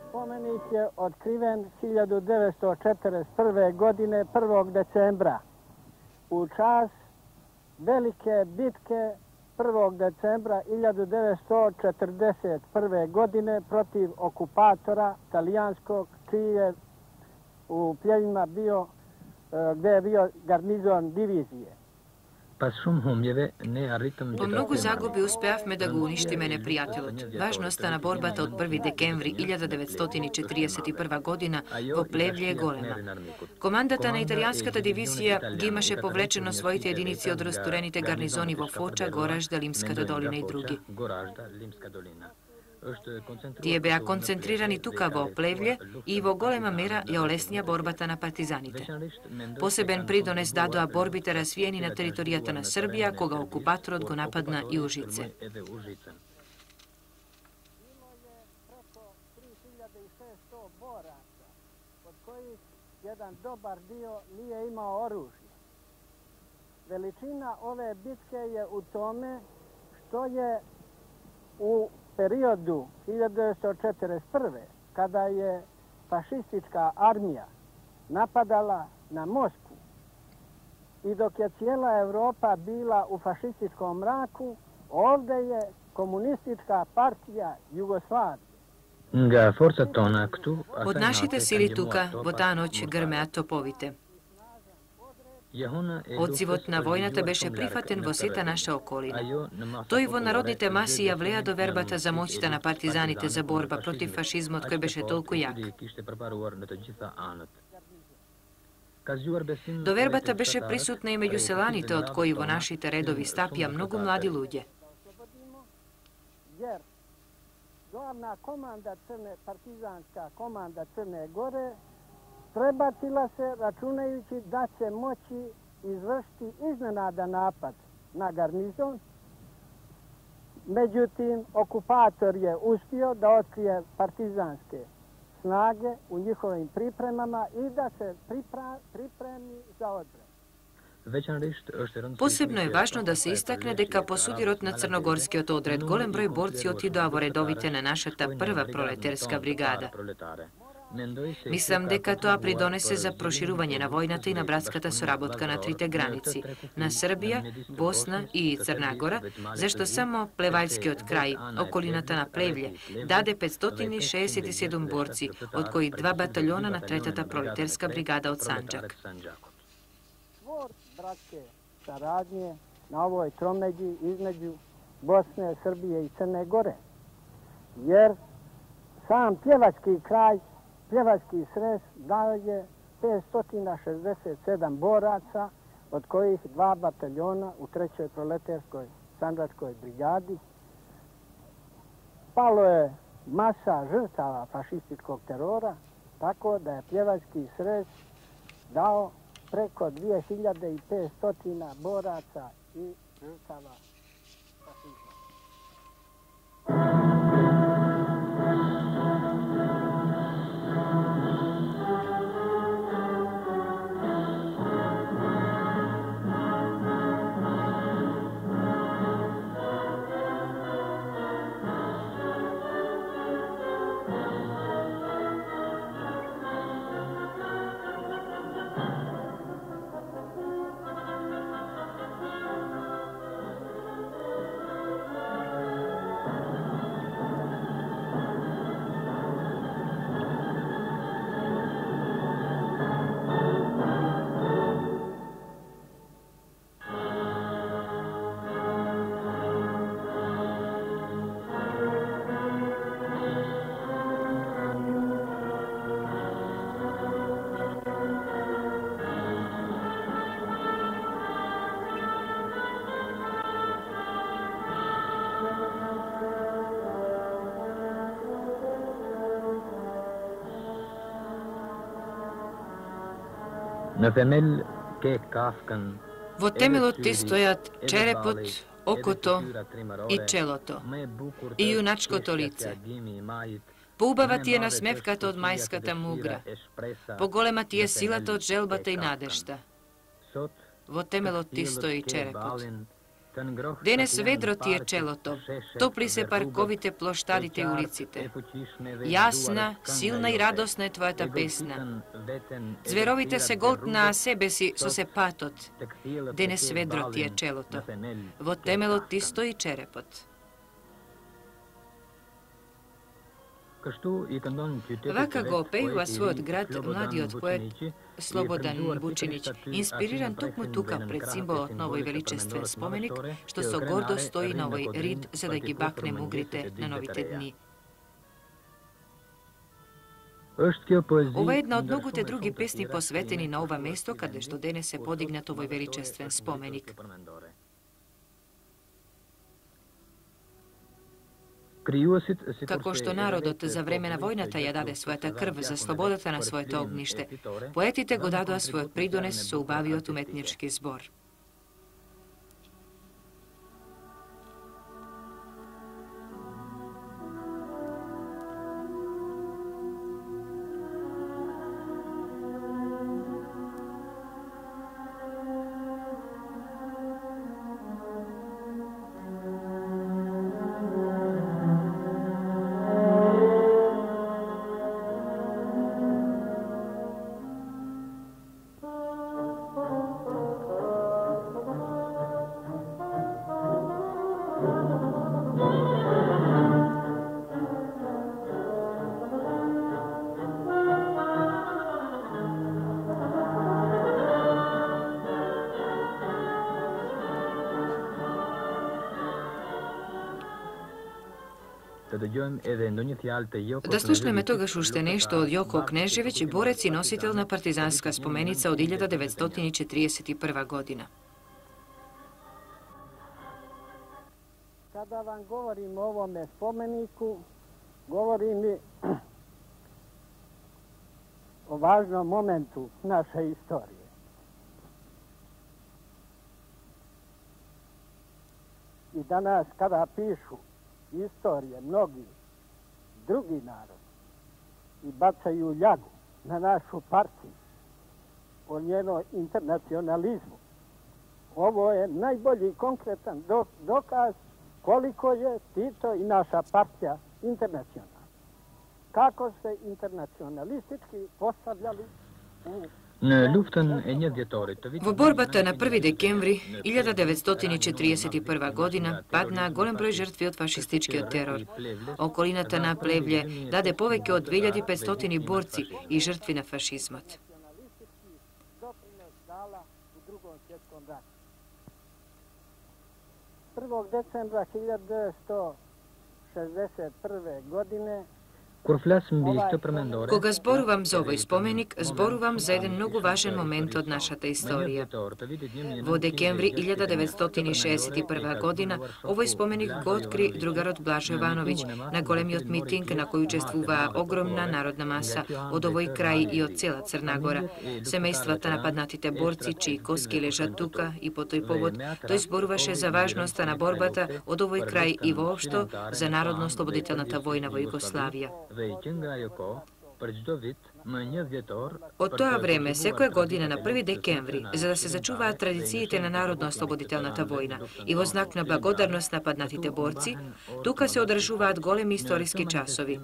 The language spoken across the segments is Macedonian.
Spomenik je otkriven 1941. godine 1. decembra u čas velike bitke 1. decembra 1941. godine protiv okupatora talijanskog, čiji je u Pljevima bio, gde je bio garnizon divizije. По многу загуби успеавме да го уништиме непријателот. Важно остана борбата од 1 декември 1941 година во Плевље е голема. Командата на италијанската дивизија ги имаше повлечено своите единици од растурените гарнизони во Фоча, Горажда, Лимската долина и други. Тие беа концентрирани тука во Плевље и во голема мера ја олеснија борбата на партизаните. Посебен придонес дадоа борбите развиени на територијата на Србија, кога окупаторот го нападна и Ужице. Jedan dobar dio nije imao oružje. Veličina ove bitke je u tome što je u periodu 1941. kada je fašistička armija napadala na Moskvu i dok je cijela Evropa bila u fašističkom mraku, ovde je komunistička partija Jugoslavije. Од нашите сили тука, во таа ноќ грмеа топовите. Одзивот на војната беше прифатен во сета наша околина. Тој во народните маси ја влеа до вербата за моќта на партизаните за борба против фашизмот кој беше толку јак. Довербата беше присутна и меѓу селаните, од кои во нашите редови стапија многу млади луѓе. Glavna komanda partizanska komanda Crne Gore prebacila se računajući da će moći izvršiti iznenada napad na garnizon. Međutim, okupator je uspio da otkrije partizanske snage u njihovim pripremama i da se pripremi za odbranu. Посебно е важно да се истакне дека по судирот на Црногорскиот одред голем број борци отидоа во редовите на нашата прва пролетерска бригада. Мислам дека тоа придонесе за проширување на војната и на братската соработка на трите граници, на Србија, Босна и Црна Гора, зашто само Плевајскиот крај, околината на Плевље, даде 567 борци, од кои 2 батальона на третата пролетерска бригада од Санџак. Bratske saradnje na ovoj tromeđi između Bosne, Srbije i Crne Gore. Jer sam Pljevački kraj, Pljevački srez daje 567 boraca od kojih 2 bataljona u 3. proleterskoj Sandžačkoj brigadi. Palo je masa žrtava fašističkog terora, tako da je pjevački srez dao preko 2500 boraca i žrtava fašizma. Во темелот ти стојат черепот, окото и челото и јуначкото лице. Поубава ти е насмевката од мајската мугра. Поголема ти е силата од желбата и надежта. Во темелот ти стои черепот. Денес ведро ти е челото, топли се парковите, плоштадите и улиците. Јасна, силна и радосна е твојата песна. Зверовите се голтнаа себе си со се патот. Денес ведро ти е челото. Во темелот ти стои черепот. Вака го опејува својот град младиот поет Слободан Вучинич, инспириран токму тука пред символот на овој величествен споменик, што со гордост стои на овој рид за да ги бакне мугрите на новите дни. Ова е една од многуте други песни посветени на ова место каде што денес се подигнат овој величествен споменик. Како што народот за време на војната ја даде својата крв за слободата на своето огниште, поетите го дадоа својот придонес со убавиот уметнички збор. Да слушнеме тогаш уште нешто од Јоко Кнежевиќ, борец и носител на партизанска споменица од 1941 година. Kada vam govorim o ovome spomeniku, govorim i o važnom momentu naše istorije. I danas kada pišu istorije mnogi drugi narodi i bacaju ljagu na našu partiju o njenoj internacionalizmu, ovo je najbolji konkretan dokaz koliko je Tito i naša partija internacionalna. Kako se internacionalistički postavljali u Во борбата на 1 декември 1941 година паднаа голем број жртви од фашистичкиот терор. Околината на Плевље даде повеќе од 2500 борци и жртви на фашизмот. 1. decembra 1961. godine Кога зборувам за овој споменик, зборувам за еден многу важен момент од нашата историја. Во декември 1961 година, овој споменик го откри другарот Блажо Јовановиќ на големиот митинг на кој учествуваа огромна народна маса од овој крај и од цела Црна Гора. Семејствата на паднатите борци, чии коски лежат тука, и по тој повод тој зборуваше за важноста на борбата од овој крај и воопшто за народно-ослободителната војна во Југославија. Од тоа време, секоја година на 1 декември, за да се зачуваат традициите на народно-ослободителната војна и во знак на благодарност на паднатите борци, тука се одржуваат големи историски часови.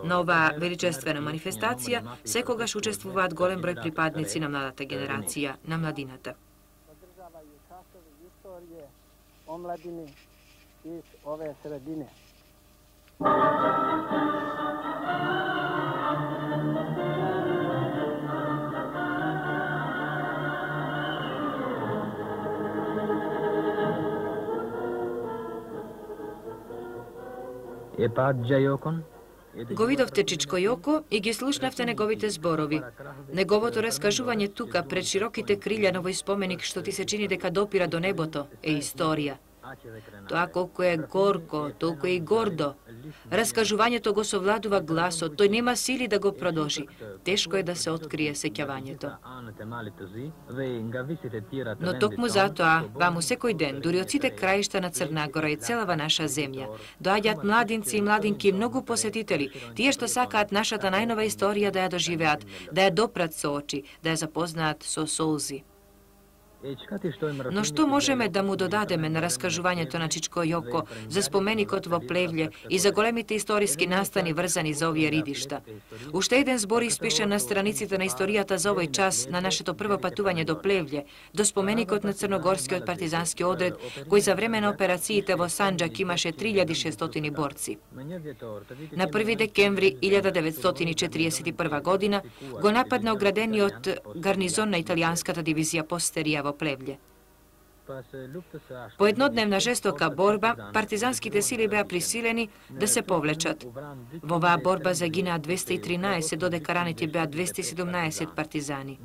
На оваа величествена манифестација секогаш учествуваат голем број припадници на младата генерација, на младината. Одржавају часови историје омладини из ове средине. Го видовте Чичко Јоко и ги слушнавте неговите зборови. Неговото раскажување тука пред широките крилја на овој споменик што ти се чини дека допира до небото е историја. Тоа колку е горко, толку е и гордо. Раскажувањето го совладува гласот, тој нема сили да го продолжи. Тешко е да се открие сеќавањето. Но токму затоа, ваму секој ден, дури од сите краишта на Црна Гора и целава наша земја, доаѓаат младинци и младинки, многу посетители, тие што сакаат нашата најнова историја да ја доживеат, да ја допрат со очи, да ја запознаат со солзи. Но што можеме да му додадеме на раскажувањето на Чичко Јоко за споменикот во Плевље и за големите историски настани врзани за овие ридишта? Уште еден збор испишан на страниците на историјата за овој час на нашето прво патување до Плевље, до споменикот на Црногорскиот партизански одред, кој за време на операциите во Санџак имаше 3600 борци. На 1 декември 1941 година го нападна оградениот гарнизон на италијанската дивизија Постерија во Плевље. По еднодневна жестока борба, партизанските сили беа присилени да се повлечат. Во оваа борба загинаа 213, додека ранети беа 217 партизани.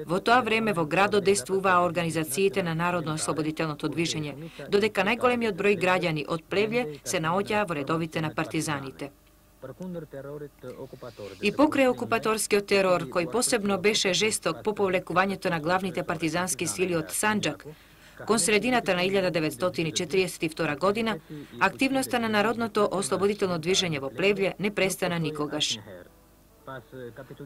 Во тоа време во градот действуваа организациите на Народно-ослободителното движење, додека најголемиот број граѓани од Плевље се наоѓаа во редовите на партизаните. И покрај окупаторскиот терор, кој посебно беше жесток по повлекувањето на главните партизански сили од Санџак, кон средината на 1942 година, активноста на Народното ослободително движење во Плевље не престана никогаш.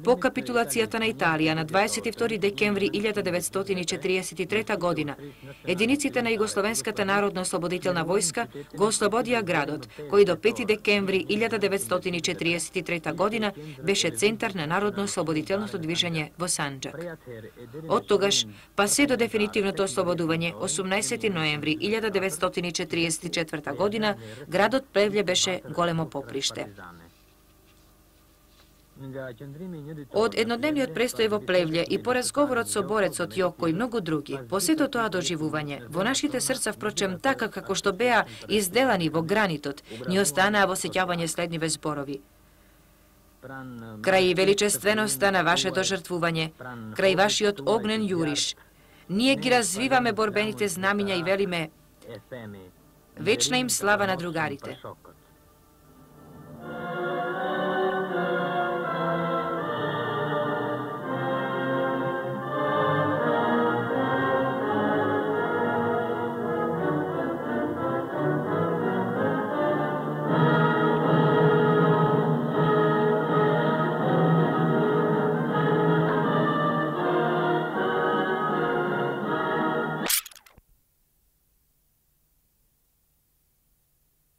По капитулацијата на Италија на 22 декември 1943 година, единиците на Југословенската народно-ослободителна војска го ослободија градот, кој до 5 декември 1943 година беше центар на народно-ослободителното движење во Санџак. Од тогаш, па се до дефинитивното ослободување, 18 ноември 1944 година, градот Плевље беше големо поприште. Од еднодневниот престој во Плевље и по разговорот со борецот Јоко и многу други, по сето тоа доживување, во нашите срца, впрочем, така како што беа изделани во гранитот, ни останаа во сеќавање следниве зборови. Крај величественоста на вашето жртвување, крај вашиот огнен јуриш, ние ги развиваме борбените знамиња и велиме вечна им слава на другарите.